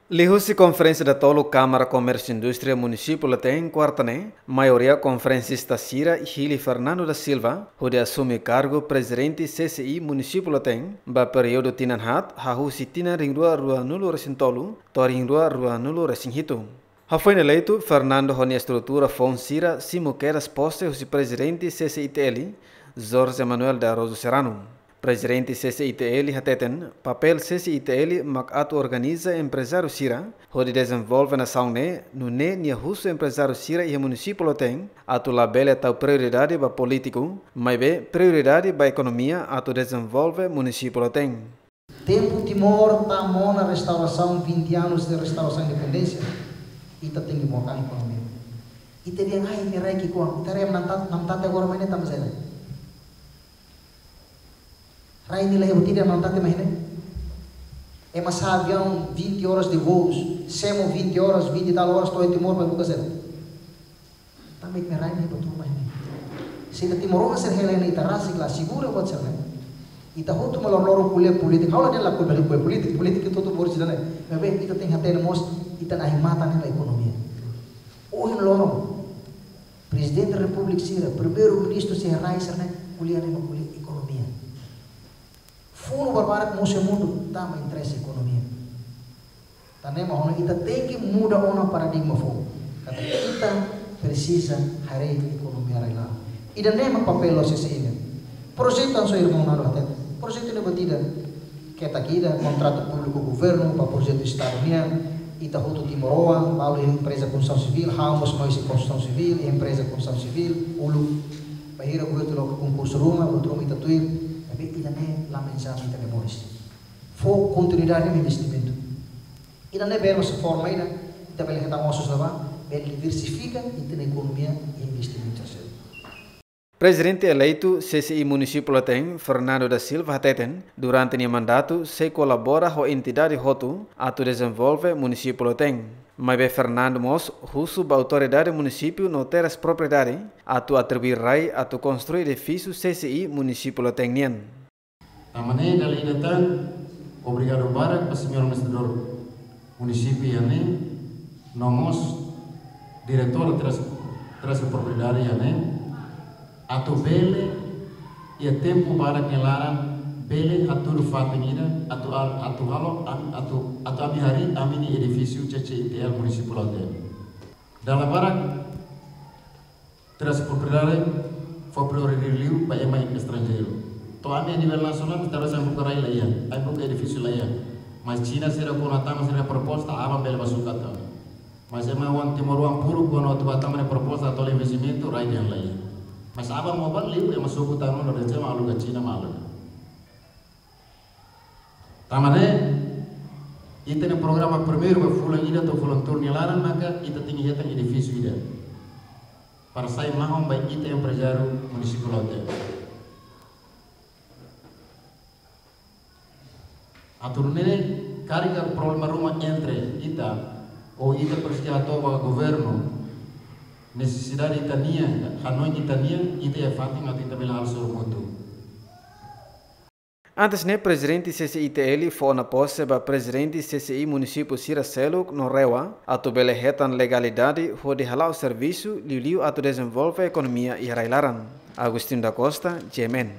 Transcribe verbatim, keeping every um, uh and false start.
Liuhusi konferénsia datoluk Kámara Komérsiu Indústria Munisípiu Lautein, kuarta ne'e, maioria konferensista sira hili Fernando da Silva, hodi asume kargu prezidente C C I Munisípiu Lautein, ba períodu tinan haat, hahú husi tinan rihun rua ruanulu resin tolu, to'o rihun rua ruanulu resin hitu. Hafoin eleitu, Fernando ho nia estrutura foun sira simu kedas pose husi prezidente C C I T L, Jorge Manuel de Araújo Serrano. Prezidente C C I T L hateten, papél C C I T L mak atu organiza emprezáriu sira, hodi dezenvolve nasaun ne'e, nune'e nia husu emprezáriu sira iha munisípiu Lautein, atu labele tau prioridade ba polítiku, maibé prioridade ba ekonomia atu dezenvolve munisípiu Lautein. Tempu Timor tama ona restaurasaun, vinte anos de restaurasaun independénsia, ita tenke book an ekonomia. Ita dehan ai, nia rai ki'ikoan, ita rai namtat, namtat agora mai ne'e tama zero. Rai nia la iha buat ida, namtat mai ne'e. Ema sa'e aviaun vinte horas de voos, semo vinte horas, vinte e tal horas, to'o Timor para buka sira. Tanba ita-nia rai ne'e buat ruma ne'e. Se ita timoroan sira hela ne'e ita rasik la asegura buat sira-ne'e. Ita hotu mak loroloron ko'alia polítika. Ha'u la dehan la ko'alia polítika, polítika ita hotu bolu sira-ne'e. Maibé ita tenke hatene mós ita-nia ahi-matan ne'e mak ekonomia. Ohin loron, Prezidente Repúblika sira, Primeiru-Ministru sira, rai sira-ne'e ko'alia ne'e mak ko'alia ekonomia. Funu barbarak mosu iha mundu, tanba interese ekonomia. Tan ne'e mak ohin ita tenke muda ona paradigma foun. Katak ita presiza haree ekonomia rai-laran. Ida-ne'e mak papél C C I nian. Projetu hanesan irmaun Nando hateten. Projetu ne'e buat ida. Ketak ida, kontratu públiku governu, ba projetu Estadu nian, ita hotu timoroan, balu iha empreza konstrusaun sivíl, ha'u mós mai husi konstrusaun sivíl, iha empreza konstrusaun sivíl, uluk, bainhira governu loke konkursu ruma, buat ruma ita tuir, tapi ida-ne'e la menjadi ita-nia moris. Fó kontinuidade ba investimentu. Ida-ne'e bele mós forma ida, ita bele hetan osus ne'ebá, bele diversifika ita-nia ekonomia investimentu sira. Prezidente eleitu C C I Munisípiu Lautein, Fernando da Silva hateten, durante nia mandatu sei kolabora ho entidade hotu atu dezenvolve munisípiu Lautein. Maibé Fernando mós husu ba autoridade munisípiu no terras propriedade atu atribui rai atu konstrui edifísiu C C I Munisípiu Lautein nian. Tanba ne'e dala ida tan, obrigadu barak ba señór administradór munisípiu iha ne'e, no mós diretór terras, terras propriedade iha ne'e, atu bele iha tempu badak nia laran, bele hatudu fatin ida, atu al-, atu halo, am-, atu, atu ami harii ami-nia edifísiu C C I T L Munisípiu Lautein. Dala barak, terras propriedade fó prioridade liu ba ema estranjeiru. To'o ami a nivel nasionál, terras yang buka rai la iha, ai buka edifísiu la iha. Mas Xina sira kuandu tama sira proposta, aban bele ba sukat ami. Mas ema oan timoroan puru kuandu atu ba tama nia proposta, atu halo investimentu, rai dehan la iha. Mas aban mós ba liu, ema suku tanu no dece mak aluga, Xina mak aluga. Tanba ne'e, ita-nia programa primeiru ba fulan ida to'o fulan tolu nia laran maka ita tenke hetan edifísiu ida. Para sai mahon ba ita emprezáriu munisípiu Lautein. Atu nune'e karik iha problema ruma entre ita, ou ita presiza hato'o ba governu, nesesidade ita-nian, hanoin ita-nian, ita iha fatin atu ita bele halo sorumutu. Antes ne'e, prezidente C C I T L fó ona pose ba prezidente C C I munisípiu sira seluk no REWA, atu bele hetan legalidade hodi hala'o servisu liuliu atu dezenvolve ekonomia iha rai-laran. Agostinho da Costa, G M N.